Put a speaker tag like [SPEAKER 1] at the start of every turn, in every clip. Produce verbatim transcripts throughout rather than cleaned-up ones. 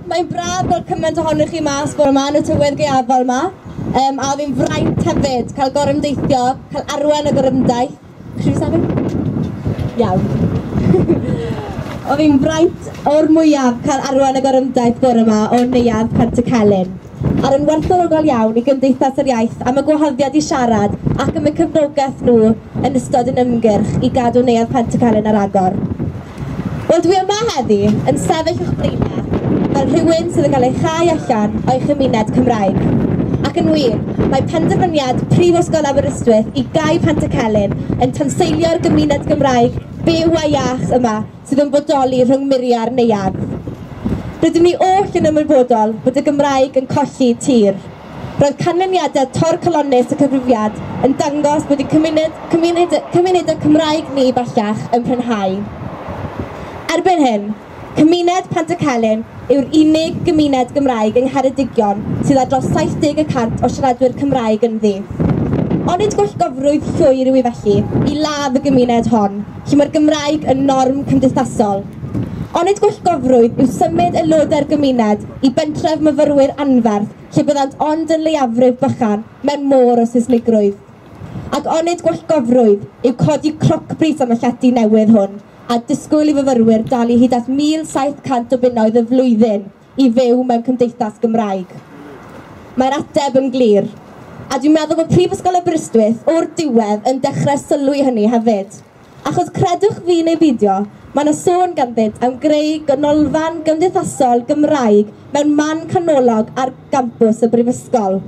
[SPEAKER 1] Mae'n braf gweld cymaint ohonoch chi mas bore yma yn y tywydd gaeafol yma. Um, a oedd hi'n fraint hefyd cael gorymdeithio, cael arwain y gorymdaith. Chi sefyll? Iawn. Oedd hi'n fraint o'r mwyaf cael arwain y gorymdaith bore yma o Neuadd Pantycelyn. A'r yn werthfawrogol iawn i Gymdeithas yr Iaith am y gwahoddiad i siarad ac am y cefnogaeth nhw yn ystod yn ymgyrch i gadw Neuadd Pantycelyn ar agor. Wel, dwi yma heddi yn sefyll o'ch blaenau fel rhywun sydd yn cael ei chau allan o'i chymuned Cymraeg. Ac yn wir, mae penderfyniad Prifysgol Aberystwyth i gau Pantycelyn yn tanseilio'r gymuned Gymraeg byw a iach yma sydd yn bodoli rhwng muriau'r neuadd. Rydym ni oll yn ymwybodol bod y Gymraeg yn colli tir. Roedd canlyniadau torcalonnus y cyfrifiad yn dangos bod y cymuned, cymuned, cymunedau Cymraeg ni bellach yn prinhau. Erbyn hyn, cymuned Pantycelyn yw'r unig gymuned Gymraeg yng Ngheredigion sydd â dros saith deg y cant o siaradwyr Cymraeg ynddi. Onid gwallgofrwydd llwyr yw i felly i ladd y gymuned hon, lle mae'r Gymraeg yn norm cymdeithasol. Onid gwallgofrwydd yw symud aelodau'r gymuned i bentref myfyrwyr anferth lle byddant ond yn leiafrif bychan mewn môr o Saesnigrwydd. Ac onid gwallgofrwydd yw codi crocbris am y llety newydd hwn a disgwyl i fyfyrwyr dalu hyd at mil saith cant o bunnoedd y flwyddyn i fyw mewn cymdeithas Gymraeg. Mae'r ateb yn glir, a dwi'n meddwl bod Prifysgol Aberystwyth o'r diwedd yn dechrau sylwi hynny hefyd. Achos credwch fi neu beidio, mae yna sôn ganddynt am greu ganolfan gymdeithasol Gymraeg mewn man canolog ar gampws y Brifysgol.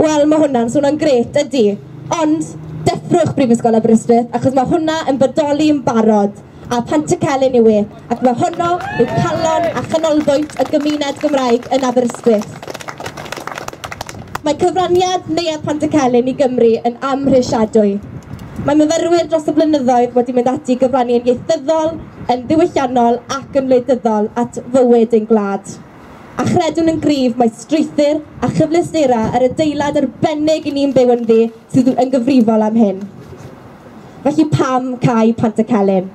[SPEAKER 1] Wel, mae hwnna'n swnio'n grêt, ydy. Ond deffrwch Brifysgol Aberystwyth, achos mae hwnna yn bodoli yn barod, a Pantycelyn yw e, ac mae honno yw calon a chanolbwynt y gymuned Gymraeg yn Aberystwyth. Mae cyfraniad Neuadd Pantycelyn i Gymru yn amhrisiadwy. Mae myfyrwyr dros y blynyddoedd wedi mynd ati i gyfrannu yn ieithyddol, yn ddiwylliannol ac yn wleidyddol at fywyd ein gwlad. A chredwn yn gryf mae strwythur a chyfleusterau yr adeilad arbennig i ni'n byw ynddi sydd yn gyfrifol am hyn. Felly pam cau Pantycelyn?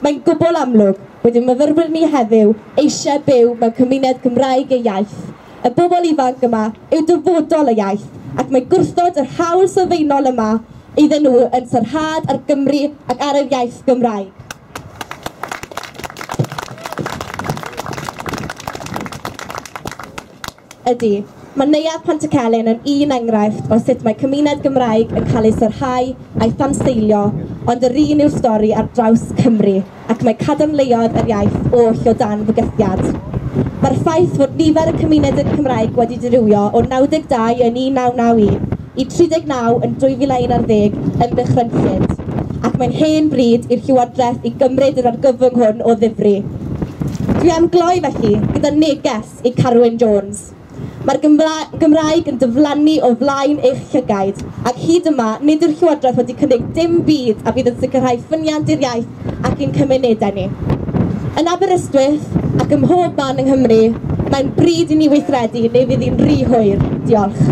[SPEAKER 1] Mae'n gwbl amlwg bod ein myfyrwyr ni heddiw eisiau byw mewn cymuned Cymraeg ei iaith. Y bobl ifanc yma yw dyfodol y iaith, ac mae gwrthod yr hawl sylfaenol yma iddyn nhw yn sarhad ar Gymru ac ar yr iaith Gymraeg. Ydy, mae Neuadd Pantycelyn yn un enghraifft o sut mae cymuned Gymraeg yn cael ei sarhau a'i thanseilio, ond yr un yw'r stori ar draws Cymru, ac mae cadarnleoedd yr iaith oll o dan fygythiad. Mae'r ffaith fod nifer y cymuned Cymraeg wedi dirywio o naw deg dau yn un naw naw un i tri deg naw yn dwy fil a un ar ddeg yn ddychrynllyd, ac mae'n hen bryd i'r Llywodraeth i gymryd yr argyfwng hwn o ddifri. Dwi am gloi felly gyda neges i Carwyn Jones. Mae'r Gymraeg yn diflannu o flaen eich llygaid, ac hyd yma nid yw'r Llywodraeth wedi cynnig dim byd a fydd yn sicrhau ffyniant i'r iaith ac i'n cymunedau ni. Yn Aberystwyth ac ym mhob man yng Nghymru, mae'n bryd i ni weithredu neu fydd hi'n rhy hwyr. Diolch.